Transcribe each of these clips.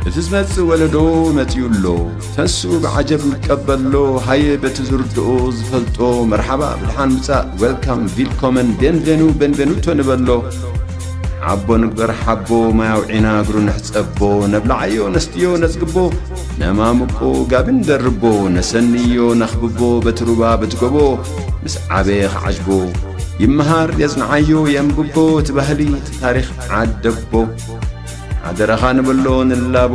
እቲ ዝመጽእ ወለዶ መጺኡ ኣሎ። ተስኡ ብዓጀብ ይቀበሎ። ሃየ በቲ ዝርድኦ ዝፈልጦ መርሓባ ብድሓን ምጻእ፣ ዌልካም፣ ቪልኮመን፣ ቤንቬኑ፣ ቤንቬኑቶ ንበሎ። ዓቦ ንግበር ሓቦ፣ ማይ ኣውዒና እግሩ ንሕጸቦ። ነብልዓዮ ነስትዮ ነጽግቦ፣ ነማምቆ ጋቢ ንደርቦ። ነሰንዮ ነኽብቦ በቲ ሩባ በቲ ጎቦ። ምስ ዓበየ ክዓጅቦ፣ ይመሃር የጽንዓዮ የንብቦ። እቲ ባህሊ እቲ ታሪኽ ዓደቦ። ሓደራኻ ንበሎ ንላቦ፣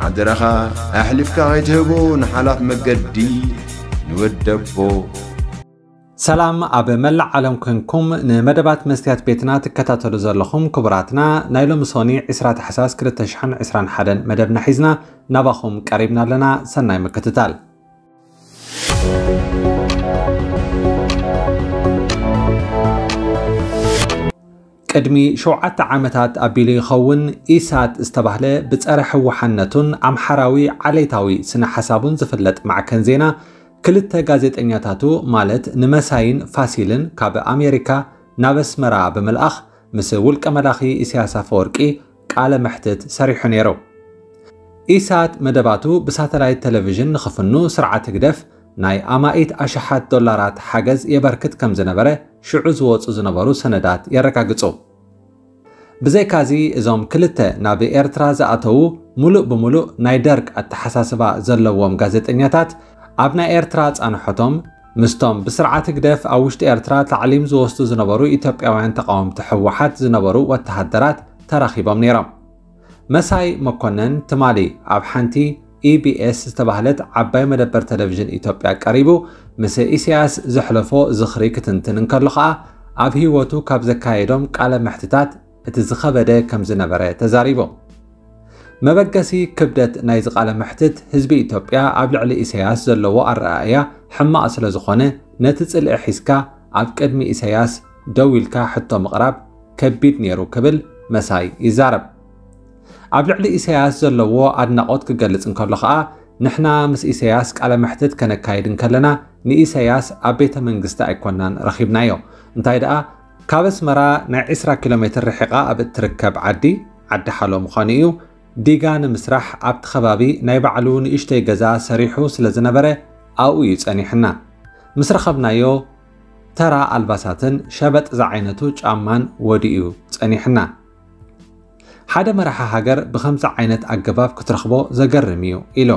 ሓደራኻ ኣሕሊፍካ ከይትህቦ ንሓላፍ መገዲ ንወደቦ። ሰላም ኣብ መላእ ዓለም ኮንኩም ንመደባት መስትያት ቤትና ትከታተሉ ዘለኹም ክቡራትና፣ ናይ ሎሚ ሶኒ ዕስራ ታሕሳስ ክልተ ሽሕን ዕስራን ሓደን መደብና ሒዝና ናባኹም ቀሪብና ኣለና። ሰናይ ምክትታል። ቅድሚ ሸውዓተ ዓመታት ኣቢሉ ይኸውን፣ ኢሳት ዝተባህለ ብጸረ ህወሓነቱን ኣምሓራዊ ዓሌታዊ ስነ ሓሳቡን ዝፍለጥ ማዕከን ዜና፣ ክልተ ጋዜጠኛታቱ ማለት ንመሳይን ፋሲልን ካብ ኣሜሪካ ናብ ኣስመራ ብምልኣኽ ምስ ውልቀ መላኺ ኢሳያስ ኣፈወርቂ ቃለ መሕትት ሰሪሑ ነይሩ። ኢሳት መደባቱ ብሳተላይት ቴሌቪዥን ንኽፍኑ ስርዓት ህግደፍ ናይ ኣማኢት ኣሽሓት ዶላራት ሓገዝ የበርክት ከም ዝነበረ ሽዑ ዝወጹ ዝነበሩ ሰነዳት የረጋግጹ። ብዘይካዚ እዞም ክልተ ናብ ኤርትራ ዝኣተዉ ሙሉእ ብሙሉእ ናይ ደርግ ኣተሓሳስባ ዘለዎም ጋዜጠኛታት ኣብ ናይ ኤርትራ ጻንሖቶም ምስቶም ብስርዓት ህግደፍ ኣብ ውሽጢ ኤርትራ ታዕሊም ዝወስዱ ዝነበሩ ኢትዮጵያውያን ተቃወምቲ ህወሓት ዝነበሩ ወተሃደራት ተራኺቦም ነይሮም። መሳይ መኮነን ትማሊ ኣብ ሓንቲ ኢቢኤስ ዝተባህለት ዓባይ መደበር ቴሌቪዥን ኢትዮጵያ ቀሪቡ ምስ ኢሳያስ ዘሕለፎ ዝኽሪ ክትንትን እንከሎ ኸኣ ኣብ ህይወቱ ካብ ዘካየዶም ቃለ መሕትታት እቲ ዝኸበደ ከም ዝነበረ ተዛሪቡ። መበገሲ ክብደት ናይዚ ቃለ መሕትት ህዝቢ ኢትዮጵያ ኣብ ልዕሊ ኢሳያስ ዘለዎ ኣረኣእያ ሕማቕ ስለ ዝኾነ ነቲ ጽልኢ ሒዝካ ኣብ ቅድሚ ኢሳያስ ደው ኢልካ ሕቶ ምቕራብ ከቢድ ነይሩ ክብል መሳይ ይዛረብ። ኣብ ልዕሊ ኢሳያስ ዘለዎ ኣድናቖት ክገልጽ እንከሎ ኸኣ ንሕና ምስ ኢሳያስ ቃለ መሕትት ከነካይድ እንከለና ንኢሳያስ ኣብ ቤተ መንግስቲ ኣይኮናን ረኺብናዮ። እንታይ ደኣ ካብ ኣስመራ ናይ ዕስራ ኪሎ ሜትር ርሒቓ ኣብ እትርከብ ዓዲ፣ ዓዲ ሓሎ ምዃኑ እዩ፣ ዲጋ ንምስራሕ ኣብቲ ከባቢ ናይ ባዕሉ ንእሽተይ ገዛ ሰሪሑ ስለ ዝነበረ ኣብኡ እዩ ጸኒሕና። ምስ ረኸብናዮ ተራ ኣልባሳትን ሸበጥ ዝዓይነቱ ጫማን ወዲኡ ጸኒሕና። ሓደ መራሒ ሃገር ብኸምዚ ዓይነት ኣገባብ ክትረኽቦ ዘገርም እዩ ኢሉ።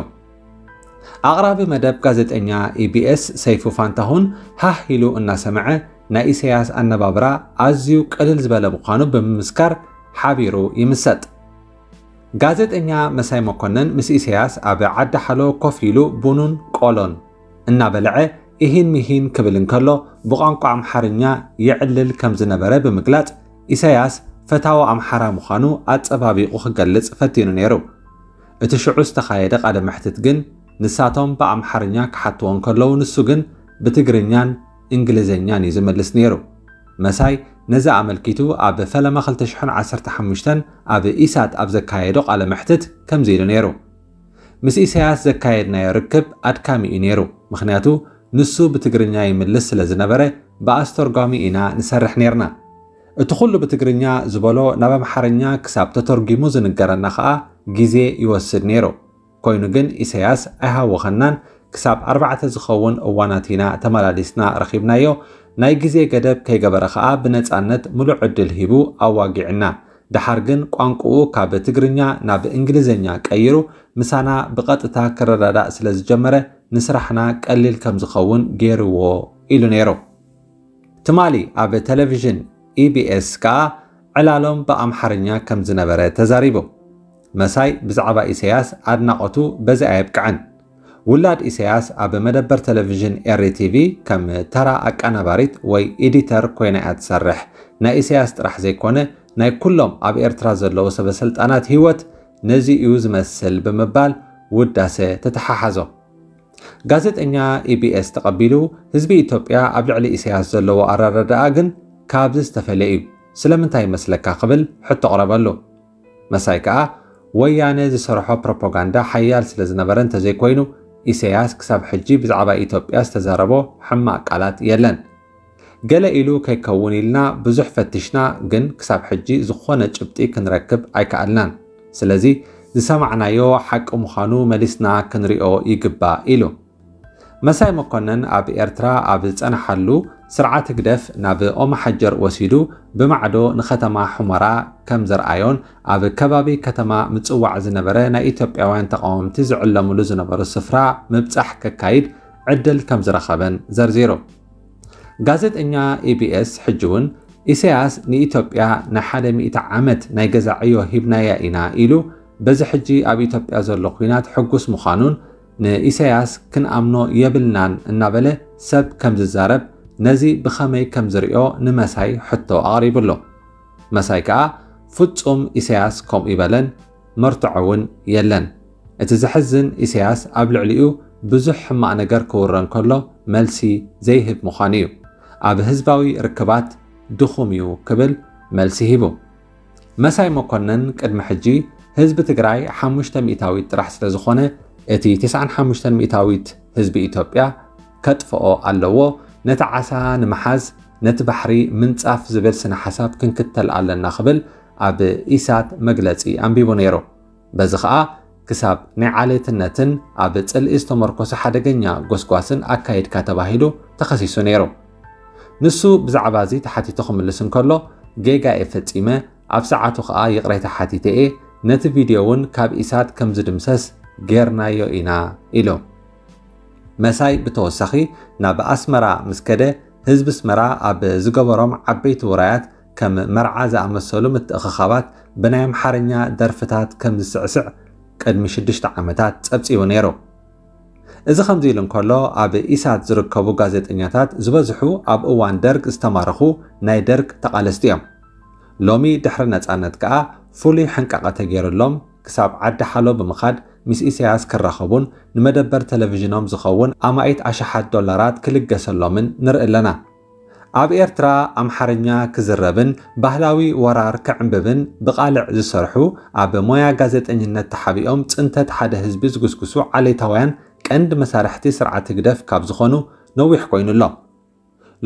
ኣቕራቢ መደብ ጋዜጠኛ ኢቢኤስ ሰይፉ ፋንታሁን ሃህ ኢሉ እናሰምዐ ናይ ኢሳያስ ኣነባብራ ኣዝዩ ቅልል ዝበለ ምዃኑ ብምምስካር ሓቢሩ ይምሰጥ። ጋዜጠኛ መሳይ መኮነን ምስ ኢሳያስ ኣብ ዓዲ ሓሎ ኮፍ ኢሉ ቡኑን ቆሎን እናበልዐ ኢሂን ሚሂን ክብል እንከሎ ብቋንቋ ኣምሓርኛ የዕልል ከም ዝነበረ ብምግላጽ ኢሳያስ ፈታዊ ኣምሓራ ምዃኑ ኣጸባቢቑ ክገልጽ ፈቲኑ ነይሩ። እቲ ሽዑ ዝተኻየደ ቃለ መሕትት ግን ንሳቶም ብኣምሓርኛ ክሓትዎ እንከለዉ ንሱ ግን ብትግርኛን እንግሊዝኛን እዩ ዝምልስ ነይሩ። መሳይ ነዚ ኣመልኪቱ ኣብ ፈለማ ክልተ ሽሕን ዓሰርተ ሓሙሽተን ኣብ ኢሳት ኣብ ዘካየዶ ቃለ መሕትት ከምዚ ኢሉ ነይሩ። ምስ ኢሳያስ ዘካየድናዮ ርክብ ኣድካሚ እዩ ነይሩ፣ ምኽንያቱ ንሱ ብትግርኛ ይምልስ ስለ ዝነበረ ብኣስተርጓሚ ኢና ንሰርሕ ነይርና። እቲ ኩሉ ብትግርኛ ዝበሎ ናብ ኣምሓርኛ ክሳብ ተተርጒሙ ዝንገረና ኸኣ ግዜ ይወስድ ነይሩ። ኮይኑ ግን ኢሳያስ ኣይሃወኸናን፣ ክሳብ ኣርባዕተ ዝኸውን እዋናት ኢና ተመላሊስና ረኺብናዮ። ናይ ግዜ ገደብ ከይገበረ ኸኣ ብነጻነት ምሉእ ዕድል ሂቡ ኣዋጊዕና። ደሓር ግን ቋንቋኡ ካብ ትግርኛ ናብ እንግሊዝኛ ቀይሩ ምሳና ብቐጥታ ክረዳዳእ ስለ ዝጀመረ ንስራሕና ቀሊል ከም ዝኸውን ገይርዎ ኢሉ ነይሩ። ትማሊ ኣብ ቴሌቪዥን ኢቢኤስ ከኣ ዕላሎም ብኣምሓርኛ ከም ዝነበረ ተዛሪቡ። መሳይ ብዛዕባ ኢሳያስ ኣድናቖቱ በዚ ኣየብቅዐን። ውላድ ኢሳያስ ኣብ መደበር ቴሌቪዥን ኤሪ ቲቪ ከም ተራ ኣቀናባሪት ወይ ኤዲተር ኮይና እያ ትሰርሕ። ናይ ኢሳያስ ጥራሕ ዘይኮነ ናይ ኩሎም ኣብ ኤርትራ ዘለዉ ሰበ ስልጣናት ህይወት ነዚ እዩ ዝመስል ብምባል ውዳሰ ተተሓሓዞ። ጋዜጠኛ ኢቢኤስ ተቐቢሉ ህዝቢ ኢትዮጵያ ኣብ ልዕሊ ኢሳያስ ዘለዎ ኣረዳድኣ ግን ካብዚ ዝተፈለየ እዩ። ስለምንታይ ይመስለካ ክብል ሕቶ ኣቕረበሉ። መሳይ ከኣ ወያነ ዝሰርሖ ፕሮፓጋንዳ ሓያል ስለ ዝነበረ እንተዘይኮይኑ ኢሳያስ ክሳብ ሕጂ ብዛዕባ ኢትዮጵያ ዝተዛረቦ ሕማቕ ቃላት የለን። ገለ ኢሉ ከይከውን ኢልና ብዙሕ ፈቲሽና፣ ግን ክሳብ ሕጂ ዝኾነ ጭብጢ ክንረክብ ኣይከኣልናን። ስለዚ ዝሰማዕናዮ ሓቂ ምዃኑ መሊስና ክንሪኦ ይግባእ ኢሉ። መሳይ መኮነን ኣብ ኤርትራ ኣብ ዝጸንሓሉ፣ ስርዓት ህግደፍ ናብ ኦመሓጀር ወሲዱ ብማዕዶ ንከተማ ሑመራ ከም ዘርኣዮን ኣብ ከባቢ ከተማ ምጽዋዕ ዝነበረ ናይ ኢትዮጵያውያን ተቓወምቲ ዝዕለምሉ ዝነበሩ ስፍራ ምብጻሕ ከካይድ ዕድል ከም ዝረኸበን ዘርዚሩ። ጋዜጠኛ ኢቢኤስ ሕጂ እውን ኢሳያስ ንኢትዮጵያ ናይ ሓደ ሚእቲ ዓመት ናይ ገዛ ዕዮ ሂብናያ ኢና ኢሉ፣ በዚ ሕጂ ኣብ ኢትዮጵያ ዘሎ ኲናት ሕጉስ ምዃኑን ንኢሳያስ ክንኣምኖ የብልናን እናበለ ሰብ ከም ዝዛረብ፣ ነዚ ብኸመይ ከም ዝሪኦ ንመሳይ ሕቶ ኣቕሪቡሉ። መሳይ ከኣ ፍጹም ኢሳያስ ከምኡ ይበለን፣ መርትዖ እውን የለን። እቲ ዘሕዝን ኢሳያስ ኣብ ልዕሊኡ ብዙሕ ሕማቕ ነገር ክውረ እንከሎ መልሲ ዘይህብ ምዃኑ እዩ። ኣብ ህዝባዊ ርክባት ድኹም እዩ ክብል መልሲ ሂቡ። መሳይ መኮነን ቅድሚ ሕጂ ህዝቢ ትግራይ ሓሙሽተ ሚእታዊት ጥራሕ ስለ ዝኾነ እቲ ተስዓን ሓሙሽተን ሚእታዊት ህዝቢ ኢትዮጵያ ከጥፍኦ ኣለዎ፣ ነቲ ዓሳ ንምሓዝ ነቲ ባሕሪ ምንጻፍ ዝብል ስነ ሓሳብ ክንክተል ኣለና ክብል ኣብ ኢሳት መግለጺ ኣንቢቡ ነይሩ። በዚ ኸኣ ክሳብ ናይ ዓሌትነትን ኣብ ጽልኢ ዝተመርኮሰ ሓደገኛ ጎስጓስን ኣካይድካ ተባሂሉ ተኸሲሱ ነይሩ። ንሱ ብዛዕባ እዚ ተሓቲቱ ክምልስ እንከሎ፣ ጌጋ እየ ፈጺመ፣ ኣብ ሰዓቱ ኸኣ ይቕሬታ ሓቲተ እየ፣ ነቲ ቪድዮ እውን ካብ ኢሳት ከም ዝድምሰስ ጌርናዮ ኢና ኢሉ። መሳይ ብተወሳኺ ናብ ኣስመራ ምስ ከደ፣ ህዝቢ ኣስመራ ኣብ ዝገበሮም ዓበይቲ ውራያት ከም መርዓ ዝኣመሰሉ ምትእኽኻባት ብናይ ኣምሓርኛ ደርፍታት ከም ዝስዕስዕ ቅድሚ ሽዱሽተ ዓመታት ጸብጺቡ ነይሩ። እዚ ከምዚ ኢሉ እንከሎ፣ ኣብ ኢሳት ዝርከቡ ጋዜጠኛታት ዝበዝሑ ኣብ እዋን ደርግ ዝተማረኹ ናይ ደርግ ተቓለስቲ እዮም። ሎሚ ድሕሪ ነጻነት ከኣ ፍሉይ ሕንቃቐ ተገይሩሎም ክሳብ ዓዲ ሓሎ ብምኻድ ምስ ኢሳያስ ክራኸቡን ንመደበር ቴሌቪዥኖም ዝኸውን ኣማኢት ኣሽሓት ዶላራት ክልገሰሎምን ንርኢ ኣለና። ኣብ ኤርትራ ኣምሓርኛ ክዝረብን ባህላዊ ወራር ክዕንብብን ብቓልዕ ዝሰርሑ፣ ኣብ ሞያ ጋዜጠኝነት ተሓቢኦም ጽንተት ሓደ ህዝቢ ዝጉስጉሱ ዓሌታውያን ቀንዲ መሳርሕቲ ስርዓት ህግደፍ ካብ ዝኾኑ ነዊሕ ኮይኑ ኣሎ።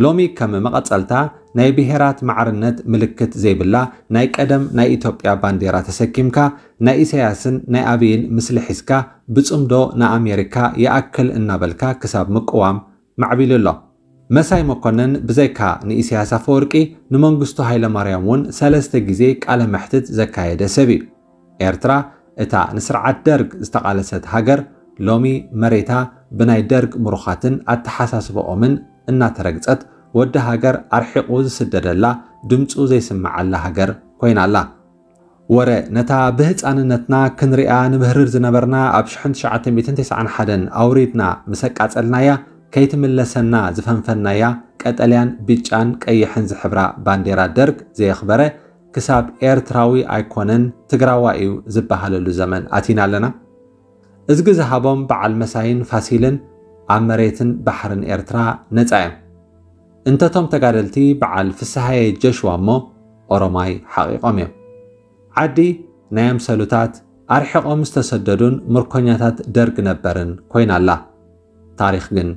ሎሚ ከም መቐጸልታ ናይ ብሄራት ማዕርነት ምልክት ዘይብላ ናይ ቀደም ናይ ኢትዮጵያ ባንዴራ ተሰኪምካ ናይ ኢሳያስን ናይ ኣብይን ምስሊ ሒዝካ ብጽምዶ ንኣሜሪካ ይኣክል እናበልካ ክሳብ ምቅዋም ማዕቢሉ ኣሎ። መሳይ መኮነን ብዘይካ ንኢሳያስ ኣፈወርቂ ንመንግስቱ ሃይለማርያም እውን ሰለስተ ግዜ ቃለ መሕትት ዘካየደ ሰብ እዩ። ኤርትራ እታ ንስርዓት ደርግ ዝተቓለሰት ሃገር ሎሚ መሬታ ብናይ ደርግ ምሩኻትን ኣተሓሳስባኦምን እናተረግጸት ወዲ ሃገር ኣርሒቑ ዝስደደላ ድምጹ ዘይስምዓላ ሃገር ኮይና ኣላ። ወረ ነታ ብህጻንነትና ክንሪኣ ንብህርር ዝነበርና ኣብ ሽሕን ትሽዓተ ሚእትን ተስዓን ሓደን ኣውሪድና ምስ ኣቃጸልናያ ከይትምለሰና ዝፈንፈንናያ ቀጠልያን ብጫን ቀይሕን ዝሕብራ ባንዴራ ደርግ ዘየኽበረ ክሳብ ኤርትራዊ ኣይኮነን ትግራዋይ እዩ ዝበሃለሉ ዘመን ኣቲና ኣለና። እዝጊ ዝሃቦም በዓል መሳይን ፋሲልን ኣብ መሬትን ባሕርን ኤርትራ ነጻ እዮም። እንተቶም ተጋደልቲ በዓል ፍስሃየ ጀሽዋ እሞ ኦሮማይ ሓቒቖም እዮም። ዓዲ ናይ ኣምሰሉታት ኣርሒቖም ዝተሰደዱን ምርኮኛታት ደርግ ነበርን ኮይና ኣላ። ታሪኽ ግን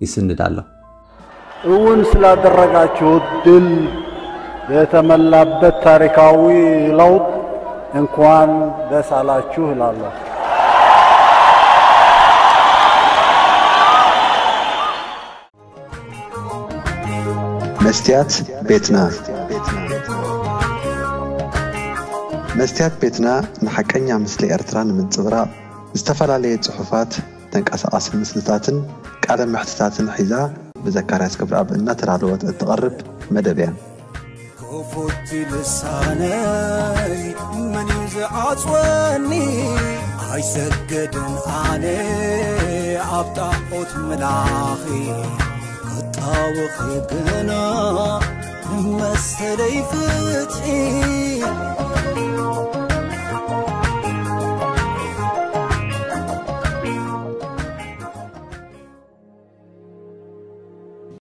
ይስንድ ኣሎ። እውን ስላደረጋችሁት ድል የተመላበት ታሪካዊ ለውጥ እንኳን ደስ አላችሁ እላለሁ። መስትያት ቤትና። መስትያት ቤትና ንሓቀኛ ምስሊ ኤርትራ ንምንጽብራቕ ዝተፈላለየ ጽሑፋት፣ ተንቀሳቓሲ ምስልታትን ቃለ መሕትታትን ሒዛ ብዘካርያስ ክብረኣብ እናተዳለወት እትቐርብ መደብ እያ። ክፉት ልሳነይ መን እዩ ዝዓጽወኒ? ኣይሰግድን ኣነ ኣብ ጣዖት ምላኺ። ክጣወኺ ግና ንመሰለይ ፍትሒ